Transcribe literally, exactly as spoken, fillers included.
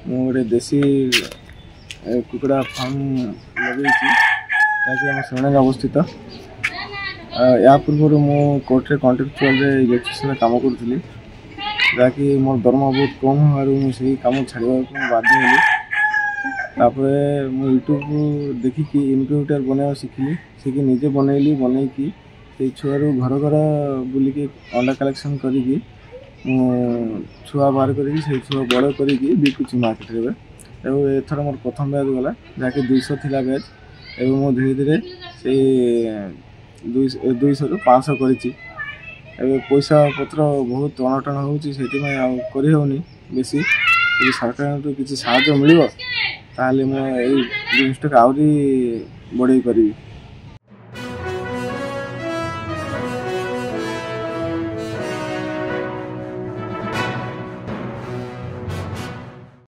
ମୁଁ ଗୋଟେ ଦେଶୀ କୁକୁଡ଼ା ଫାର୍ମ ଲଗେଇଛି, ଯାହାକି ଆମ ଶ୍ରେଣୀରେ ଅବସ୍ଥିତ। ଏହା ପୂର୍ବରୁ ମୁଁ କୋର୍ଟରେ କଣ୍ଟ୍ରାକ୍ଚୁଆଲରେ ଇଲେକ୍ଟ୍ରିସିଆନରେ କାମ କରୁଥିଲି, ଯାହାକି ମୋର ଦରମା ବହୁତ କମ୍ ହେବାରୁ ମୁଁ ସେଇ କାମ ଛାଡ଼ିବାକୁ ବାଧ୍ୟ ହେଲି। ତାପରେ ମୁଁ ୟୁଟ୍ୟୁବରୁ ଦେଖିକି ଇନକ୍ୟୁବେଟର ବନେଇବା ଶିଖିଲି, ଶିଖି ନିଜେ ବନେଇଲି। ବନେଇକି ସେଇ ଛୁଆରୁ ଘର ଘର ବୁଲିକି ଅଣ୍ଡା କଲେକ୍ସନ୍ କରିକି ମୁଁ ଛୁଆ ବାହାର କରିକି ସେଇ ଛୁଆ ବଡ଼ କରିକି ବିକୁଛି ମାର୍କେଟରେ ଏବେ। ଏବଂ ଏଥର ମୋର ପ୍ରଥମ ବ୍ୟାଚ୍ ଗଲା, ଯାହାକି ଦୁଇଶହ ଥିଲା ବ୍ୟାଚ୍। ଏବେ ମୁଁ ଧୀରେ ଧୀରେ ସେଇ ଦୁଇଶହରୁ ପାଞ୍ଚଶହ କରିଛି। ଏବେ ପଇସା ପତ୍ର ବହୁତ ଅଣଟଣ ହେଉଛି, ସେଥିପାଇଁ ଆଉ କରିହେଉନି ବେଶୀ। ଯଦି ସରକାରଙ୍କଠୁ କିଛି ସାହାଯ୍ୟ ମିଳିବ, ତାହେଲେ ମୁଁ ଏଇ ଜିନିଷଟାକୁ ଆହୁରି ବଢ଼େଇ ପାରିବି।